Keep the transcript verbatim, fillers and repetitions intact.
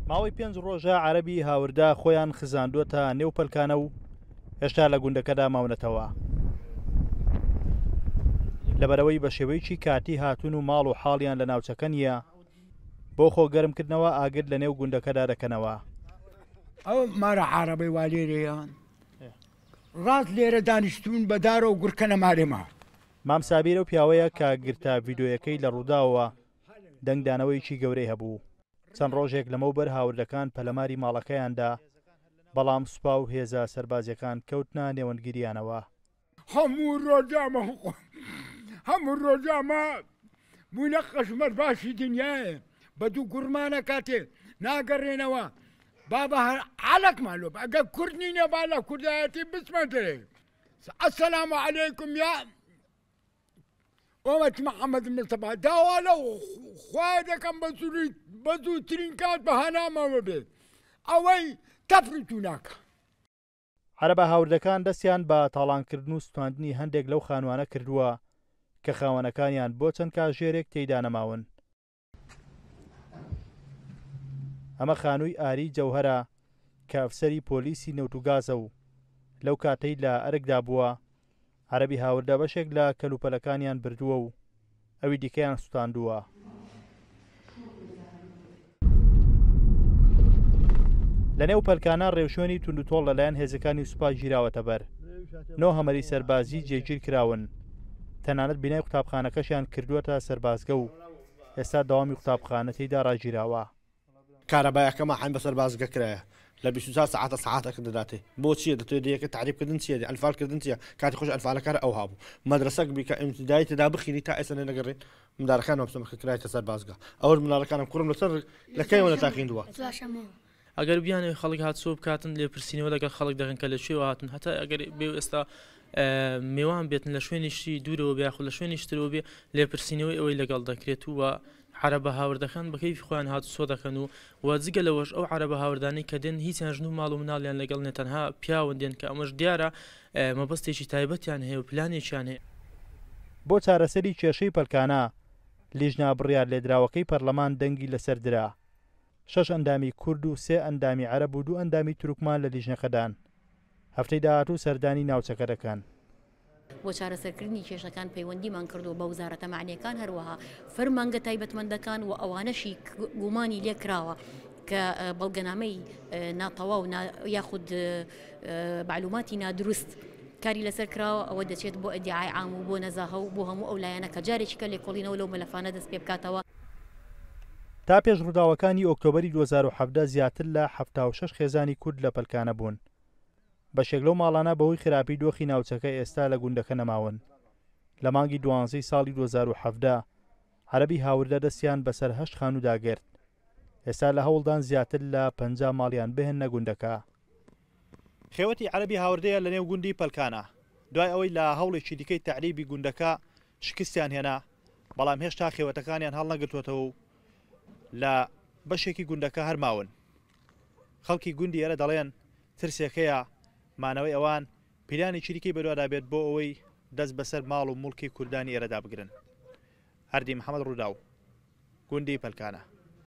ماوەی پێنج ڕۆژە عەرەبی هاوردە خۆیان خزاندووەتە نێو پەلکانە و هێشتا لە گوندەکەدا ماونەتەوە. لەبەرەوەی بە شێوەیەکی کاتی هاتوون و ماڵ و حاڵیان لە ناوچەکە نییە، بۆ خۆ گەرمکردنەوە ئاگر لە نێو گوندەکەدا دەکەنەوە. ئەو مارە عەرەبەی وا لێرەیان ڕاست لێرە دانیشتون بە دارە و گورکەنە مارێما. مام سابیر ئەو پیاوەیە کە گرتە ڤیدۆیەکەی لە ڕووداوەوە دەنگدانەوەیەکی گەورەی هەبوو. چەند ڕۆژێک لەمەوبەر هاوردەکان پەلەماری ماڵەکەیاندا، بەڵام سوپا و هێزە سەربازیەکان کەوتنە نێوەندگیریانەوە. هەموو ڕۆژامە هەموو ڕۆژامە بوونە قەشمەر باشی دنیایە، بە دوو گوڕمانە کاتێ ناگەڕێنەوە. بابا هەر عەلەکمان لۆ ئەگەر کورد نینە با لە کوردایەتی بچمە دەرێ. ئەسەلام عەلەیکم یا ئۆمەت محەممەد مستەفا، داوا لە خوایە دەکەم بە زووترین کات بە هەنامەوە بێت، ئەوەی تەفریتو ناکە. عەرەبە هاوردەکان دەستیان بە تاڵانکردن و سوتاندنی هەندێک لەو خانوانە کردووە کە خاوەنەکانیان بۆ چەند کاژێرێک تێیدا نەماون. ئەمە خانووی ئاری جەوهەرە کە ئەفسەری پۆلیسی نەوت و گازە و لەو کاتەی لە ئەرکدا بووە عەرەبی هاوردە بەشێک لە کەلوپەلەکانیان بردووە و ئەوی دیکەیان سوتاندووە. لە نێو پەلکانە ڕێوشوێنی توندوتۆڵ لەلایەن هێزەکانی سوپا گیراوەتە بەر. نۆ هەمەری سەربازی جێگیر کراون، تەنانەت بینای قوتابخانەکەشیان کردووەتە سەربازگە و ئێستا دەوامی قوتابخانە تێیدا ڕاگیراوە. کارەبایەکەمە حەیم بە سەربازگە کرایە لە بیست و چوار سەعاتە سەعاتەکە دەداتێ. بۆ چییە؟ دەتوێت یەکە تعریبکردن چییە؟ ئەنفالکردن چییە؟ کاتی خۆش ئەنفالەکار ئەو هابوو. مەدرەسەک بی کە ئیمتیدایی تێدا بخینی تا ئێستا نەگەڕێن مندارەکانم بسەمە کە کرایتە سەربازگە. ئەوەش مندارەکانم کوڕم لەسەر لە کەیەوە نەتاقیندووە. ئەگەر بیانەوێت خەڵک هاتوچۆ بکاتن لێپرسینەوە لەگەڵ خەڵک دەکەن کە لە کوێوە هاتون، هەتا ئەگەر بێ ئێستا میوان بێتن لە شوێنیشی دوورەوە بێ یاخود لە شوێنیش ترەوە بێ لێپرسینەوەی ئەوەی لەگەڵ دەکرێت و عەرەبە هاوردەکان بە کەیفی خۆیان هاتوچۆ دەکەن و وە جگە لەوەش ئەو عەرەبە هاوردانەی کە دێن هیچیان ژن و ماڵ و مناڵیان لەگەڵ نیە، تەنها پیاون دێن کە ئەمەش دیارە مەبەستێکی تایبەتیان هەیە و پلانێکیان هەیە. بۆ چارەسەری کێشەی پەلکانە لیژنە بڕیار لێدراوەکەی پەرلەمان دەنگی لەسەر درا. شەش ئەندامی کورد و سێ ئەندامی عەرەب و دوو ئەندامی تورکمان لە لیژنەکەدان. هەفتەی داهاتوو سەردانی ناوچەکە دەکەن. بۆ چارەسەرکردنی کێشەکان پەیوەندیمان کردووە بە وەزارەتە مەعنیەکان، هەروەها فەرمانگە تایبەتمەندەکان و ئەوانەشی گومانی لێکراوە کە بەڵگەنامەی ناتەواو یاخود معلوماتی نادروست کاری لەسەر کراوە، ئەوە دەچێت بۆ ئەدیعای عام و بۆ نەزاهە و بۆ هەموو ئەو لایەنە کە جارێکی کە لێکۆڵینەوە لەو مەلەفانە دەست پێ بکاتەوە. تا پێش ڕووداوەکانی ئۆکتۆبەری دوو هەزار و حەڤدە زیاتر لە حەفتا و شەش خێزانی کورد لە پەلکانە بوون. بەشێک لەو ماڵانە بەهۆی خراپی دۆخی ناوچەکە ئێستا لە گوندەکە نەماون. لە مانگی دوانزەی ساڵی دوو هەزار و حەڤدە عەرەبی هاوردە دەستیان بەسەر هەشت خانوودا گرت. ئێستا لە هەوڵدان زیاتر لە پەنجا ماڵیان بهێننە گوندەکە. خێوەتی عەرەبی هاوردەیە لە نێو گوندی پەلکانە. دوای ئەوەی لە هەوڵێکی دیکەی تەعریبی گوندەکە شکستیان هێنا، بەڵام هێشتا خێوەتەکانیان هەڵنەگرتووەتەوە و لە بەشێکی گوندەکە هەرماون. خەڵکی گوندی ئێرە دەڵێن ترسێکەیە مانەوەی ئەوان پیلانی چیریکەی بەدوادا بێت بۆ ئەوەی دەست بەسەر ماڵ و مڵکی کوردانی ئێرەدا بگرن. هەردی محەممەد، ڕووداو، گوندی پەلکانە.